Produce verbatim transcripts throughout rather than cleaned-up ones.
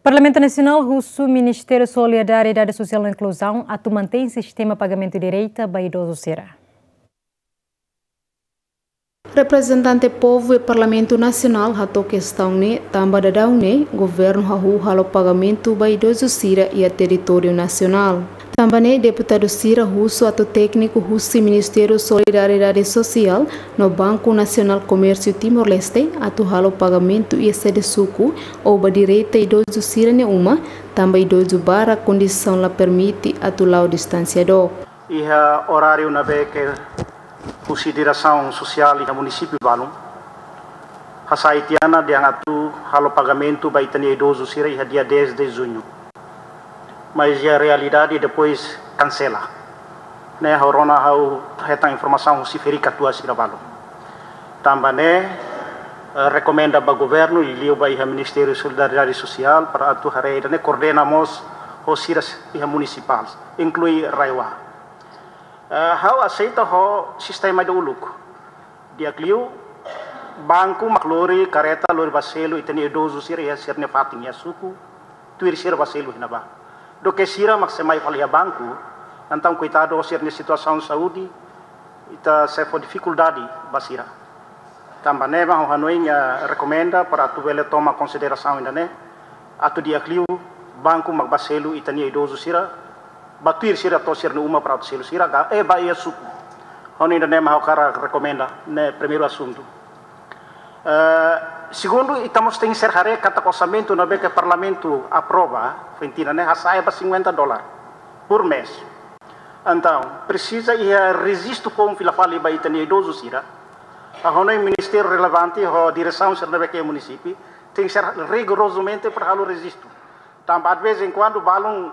Parlamentu Nasionál husu Ministériu Solidariedade Sosiál no Inkluzaun atu mantein sistema pagamentu direta ba idozu sira. Reprezentante povu iha Parlamentu Nasionál hato'o kestaun ne'e tanba daudaun ne'e governu hahú halo pagamentu ba idozu sira iha territóriu nasionál. Tanba ne'e deputadu sira husu atu tékniku husi Ministériu Solidariedade Sosiál no Banku Nasionál Komérsiu Timor-Leste atu halo pagamentu iha sede suku ou ba direta idozu sira-nia uma, tanba idozu barak kondisaun la permite atu la'o distánsia dook. Iha oráriu ne'ebé ke husi diresaun sosiál iha munisípiu balun hasai tiha ona dehan atu halo pagamentu ba ita-nia idozu sira iha dia dez de junho. Mas iha realidade depois kansela. Ne'e ha'u rona ha'u hetan informasaun husi ferik-katuas sira balun. Tanba ne'e, eh, rekomenda ba governu, liuliu ba iha Ministériu Solidariedade Sosiál, para atu haree ida-ne'e koordena mós ho sira iha munisipál, inklui RAEOA. Eh, ha'u aseita ho sistema ida uluk. Di'ak liu, banku mak lori kareta, lori ba selu ita-nia idozu sira iha sira-nia fatin iha suku, tuir sira ba selu iha ne'ebá. Duké sira mak sei mai fali iha banku, entaun koitadu ho sira-nia situasaun saúde, ita sei fó difikuldade ba sira. Tanba ne'e mak ha'u hanoin, eh, rekomenda para atu bele toma konsiderasaun ida-ne'e, atu di'ak liu banku mak ba selu ita-nia idozu sira, ba tuir sira to'o sira-nia uma para atu selu sira ka, eh, ba iha suku. Ha'u hanoin ida-ne'e mak ha'u hakarak rekomenda, ne'e primeiru asuntu. Eh, segundu, ita mós tenke ser haree katak orsamentu ne'ebé ke Parlamentu aprova, foin tiha ona ne'e hasa'e ba cinquenta dólar por mês. Entaun, presiza iha rejistu foun fila fali ba ita-nia idozu sira. Ha'u hanoin ministériu relevante ho diresaun sira ne'ebé ke iha munisípiu tenke ser rigorozamente para halo rejistu. Tanba de vez em quando balun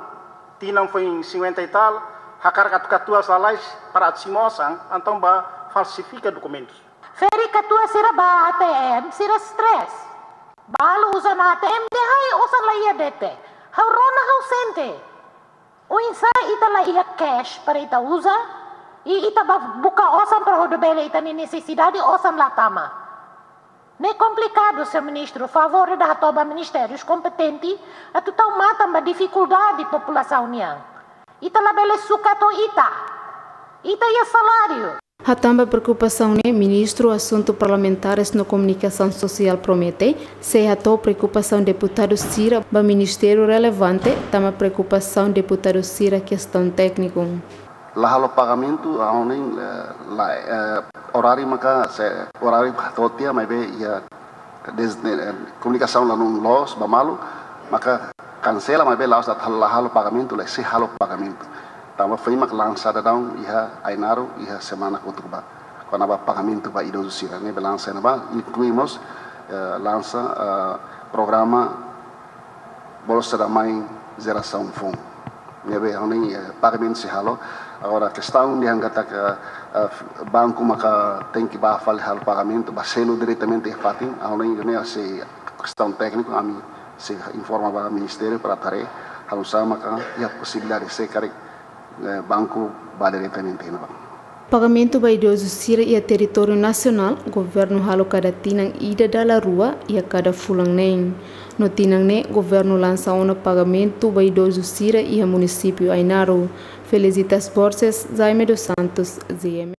tinan foin cinquenta e tal, hakarak atu katuas lalais para atu simu osan, entaun ba falsifika dokumentus. Ferik-katuas sira ba ATM, sira stress. Balu uza ona ATM dehan osan la iha de'it. Ha'u rona ha'u sente. Oinsá ita la iha cash para ita uza, i ita ba buka osan para hodi bele ita-nia nesesidade osan la tama. Ne'e komplikadu, señór ministru, favór ida hato'o ba ministérius kompetente atu tau matan ba difikuldade populasaun nian. Ita labele sukat ho ita. Ita iha saláriu. Hatán ba preokupasaun ne'e, Ministru Asuntu Parlamentares no Komunikasaun Sosiál promete sei hato'o preokupasaun deputadu sira ba ministériu relevante, tanba preokupasaun deputadu sira kestaun tékniku. La halo pagamentu, ha'u hanoin, eh, la, eh, oráriu maka sei, oráriu to'o tiha maibé iha des-, eh, komunikasaun la loos ba malu, maka kansela maibé la'ós atu la halo pagamentu, la sei halo pagamentu. Tanba foin mak lansa daudaun iha Ainaro, iha semana kotuk ba. Kona-ba pagamentu ba idozu sira, ne'e be lansa iha ne'ebá, inklui mós, eh, lansa, eh, programa Bolsa da Mãe Jerasaun Foun. Ne'ebé ha'u hanoin, eh, pagamentu sei halo. Agora, kestaun dehan katak, eh, eh, banku maka tenke ba fali halo pagamentu, ba selu diretamente iha fatin. Ha'u hanoin ne'e sei kestaun tékniku, ami sei informa ba ministériu para haree, halo sama ka iha posibilidade se karik, eh, banku ba diretamente iha ne'ebá. Pagamentu ba idozu sira iha territóriu nasionál, governu halo kada tinan ida dala rua iha kada fulan neen. No tinan ne'e, governu lansa ona pagamentu ba idozu sira iha munisípiu Ainaro. Felicitas Borges, Jaime dos Santos, G M.